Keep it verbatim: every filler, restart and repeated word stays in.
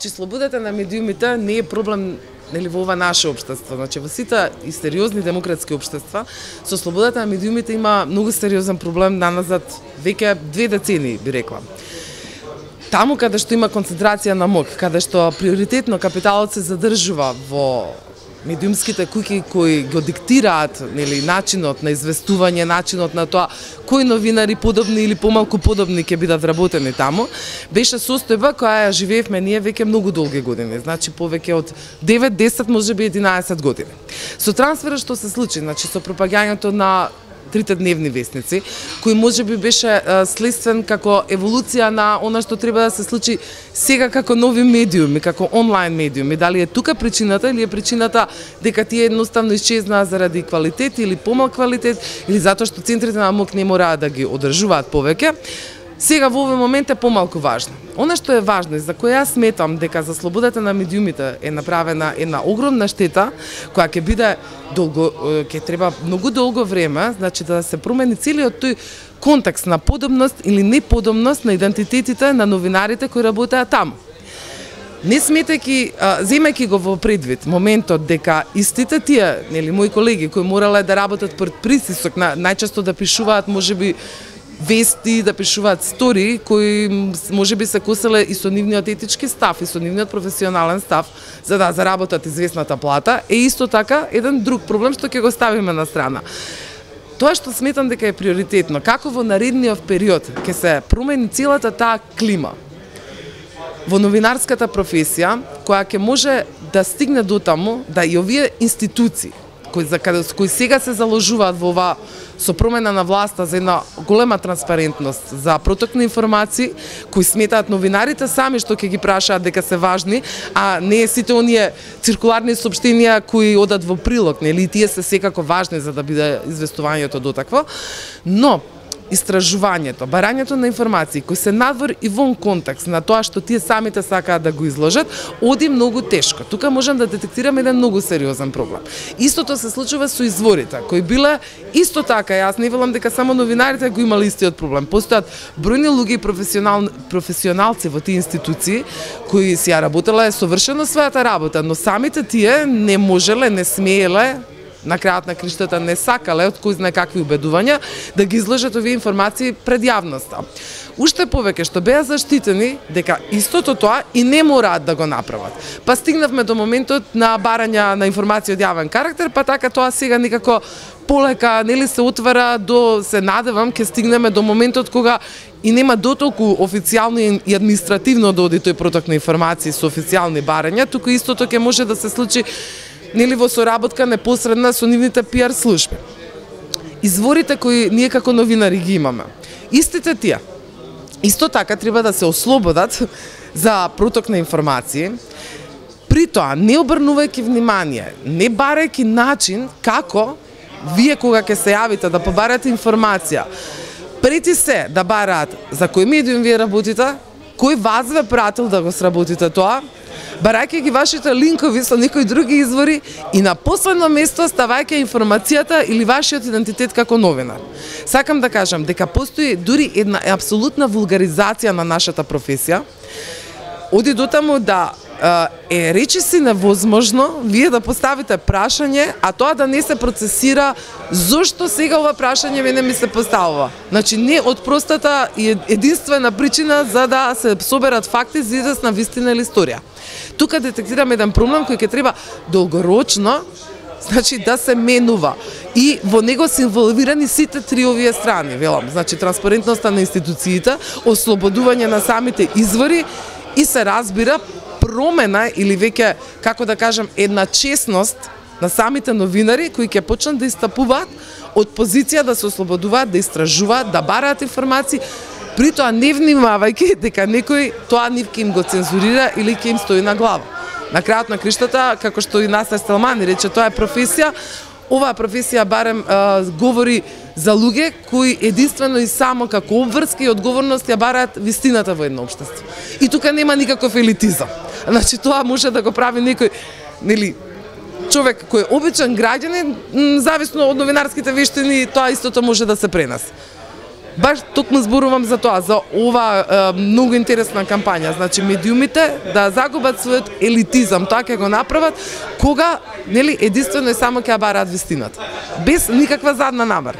че слободата на медиумите не е проблем нели во ова наше општество. Значи во сите и сериозни демократски општества со слободата на медиумите има многу сериозен проблем наназад веќе две децении, би рекла. Таму каде што има концентрација на моќ, каде што приоритетно капиталот се задржува во медиумските куќи кои го диктираат нели начинот на известување, начинот на тоа кои новинари подобни или помалку подобни ќе бидат вработени таму, беше состојба која ја живеевме ние веќе многу долги години, значи повеќе од девет, десет, можеби единаесет години. Со трансферот што се случи, значи со пропагањето на трите дневни вестници, кој можеби беше следствен како еволуција на она што треба да се случи сега како нови медиуми, како онлайн медиуми. Дали е тука причината или е причината дека тие едноставно исчезнаа заради квалитет или помал квалитет или затоа што центрите на моќ не мораат да ги одржуваат повеќе. Сега во овој момент е помалку важно. Она што е важно и за која јас сметам дека за слободата на медиумите е направена една огромна штета, која ќе биде долго, ќе треба многу долго време, значи да се промени целиот тој контекст на подобност или неподобност на идентитетите на новинарите кои работеат таму. Не сметајќи, земајќи го во предвид моментот дека истите тие, нели мои колеги кои морале да работат пред притисок, најчесто да пишуваат можеби вести, да пишуваат стори кои можеби се коселе и со нивниот етички став и со нивниот професионален став за да заработат известната плата, е исто така еден друг проблем што ќе го ставиме на страна. Тоа што сметам дека е приоритетно, како во наредниот период ќе се промени целата таа клима во новинарската професија, која ќе може да стигне до таму да и овие институции кои за каде кои сега се заложуваат во ова со промена на власта за една голема транспарентност, за проток на информации, кои сметаат новинарите сами што ќе ги прашаат дека се важни, а не сите оние циркуларни соопштенија кои одат во прилог, нели тие се секако важни за да биде известувањето до такво, но истражувањето, барањето на информации кои се надвор и вон контекст на тоа што тие самите сакаат да го изложат, оди многу тешко. Тука можам да детектираме еден многу сериозен проблем. Истото се случува со изворите, кои биле исто така, јас не велам дека само новинарите го имале истиот проблем. Постојат бројни луѓе и професионал, професионалци во тие институции кои си ја работеле совршено својата работа, но самите тие не можеле, не смееле, на крајот на криштата не сакале од кој знае какви убедувања да ги изложат овие информации пред јавноста. Уште повеќе што беа заштитени дека истото тоа и не мораат да го направат. Па стигнавме до моментот на барања на информации од јавен карактер, па така тоа сега некако полека нели се отвара до, се надевам, ќе стигнеме до моментот кога и нема дотолку официјално и административно да оди тој проток на информации со официјални барања, туку истото ќе може да се случи нели во соработка непосредна со нивните пиар служби. Изворите кои ние како новинари ги имаме, истите тие, исто така треба да се ослободат за проток на информации, при тоа не обрнувајќи внимание, не барајќи начин како вие кога ќе се јавите да побарате информација, прети се да бараат за кој медиум вие работите, кој вас ве пратил да го сработите тоа, барајќи ги вашите линкови со некои други извори и на последно место ставајќи информацијата или вашиот идентитет како новинар. Сакам да кажам дека постои дури една апсолутна вулгаризација на нашата професија, оди до таму да е речиси невозможно вие да поставите прашање, а тоа да не се процесира зошто сега ова прашање мене ми се поставува. Значи не од простата и единствена причина за да се соберат факти за известна вистина или историја. Тука детектираме еден проблем кој ќе треба долгорочно, значи да се менува и во него се инволвирани сите три овие страни, велам, значи транспарентноста на институциите, ослободување на самите извори и се разбира промена или веќе, како да кажам, една честност на самите новинари кои ќе почнат да истапуваат од позиција да се ослободуваат, да истражуваат, да бараат информации, при тоа не внимавајќи дека некој тоа нив ќе им го цензурира или ќе им стои на глава. На крајот на криштата, како што и Насер Селмани рече, тоа е професија, оваа професија барем а, говори за луѓе кои единствено и само како обврска и одговорност ја бараат вистината во едно општество. И тука нема никаков елитизам. Значи тоа може да го прави некој, нели, човек кој е обичен граѓанин, зависно од новинарските вештини, тоа истото може да се пренесе. Баш токму зборувам за тоа, за ова е, многу интересна кампања. Значи медиумите да загубат својот елитизам, тоа ќе го направат кога, нели, единствено и само ќе ја бараат вистината, без никаква задна намера.